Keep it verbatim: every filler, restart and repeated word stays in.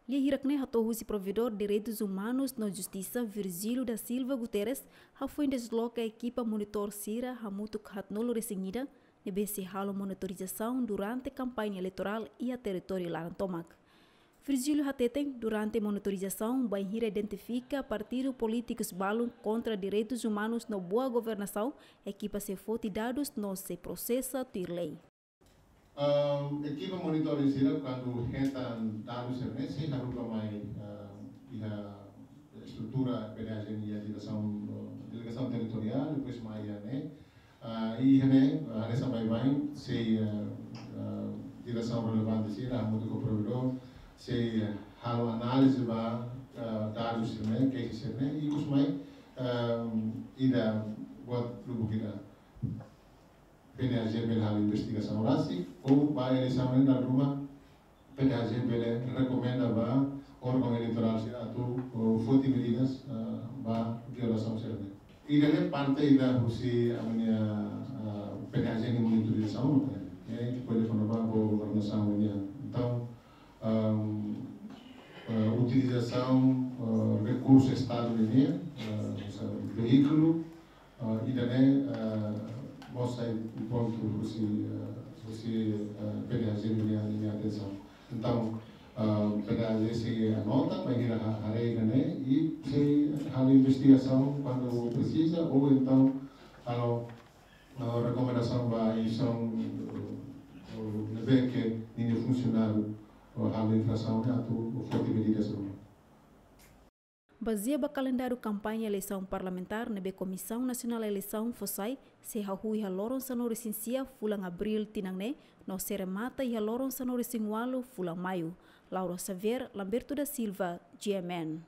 Lia hirak ne'e hato'o husi Provedór Direitus Umanus no Justisa, Virgílio da Silva Guterres, hafoin desloka ekipa monitór sira hamutuk haatnulu-resin-ida, ne'ebé sei halo monitorizasaun durante kampaña eleitorál iha territóriu laran tomak. Virgílio hateten, durante monitorizasaun, bainhira identifika partidu polítikus balun kontra direitus umanus no boa governasaun, ekipa sei foti dadus no sei prosesa tuir lei. Ahm, ekipa monitór sira, kuandu hetan dadus sira-ne'e, sei haruka mai, ahm, iha estrutura PDHJ nia diresaun, eh, delegasaun territoriál, depois mai iha ne'e. Ah, i iha ne'e, ah, hanesan baibain, sei, ah, ah, diresaun relevante sira, hamutuk ho Provedór, sei, ah, halo análize ba, ah, dadus sira-ne'e, cases sira-ne'e, i ikus mai, ahm, ida buat lubuk ida PDHJ bele halo investigasaun rasik, ou ba eleisaun ne'e dala ruma PDHJ bele rekomenda ba órgaun eleitorál sira atu, ou, foti medidas, ah, ba violasaun sira-ne'e. Ida-ne'e parte ida husi ami-nia, ah, PDHJ nia monitorizasaun, ne'e, eh, kona-ba boa governasaun nian. Entaun, ahm, ah, utilizasaun, ah, rekursu Estadu nian, ah, hanesan veíkulu, ah, ida-ne'e, ah, mós sai pontu husi, ah, husi, ah, PDHJ nia, nia atensaun. Entaun, ah, PDHJ sei anota, bainhira ha-, haree ida-ne'e, i sei halo investigasaun kuandu presiza, ou entaun halo, ah, rekomendasaun ba instituisaun, ah, ne'ebé ke ninia funsionáriu, ah, halo infrasaun ne'e atu foti medidas ruma. Bazeia ba kalendáriu kampaña eleisaun parlamentár ne'ebé Komisaun Nasionál Eleisaun fó sai, sei hahú iha loron sanulu-resin-sia fulan Abríl tinan ne'e, no sei remata iha loron sanulu-resin-ualu fulan Maiu. Laura Xavier, Lamberto da Silva, G M N.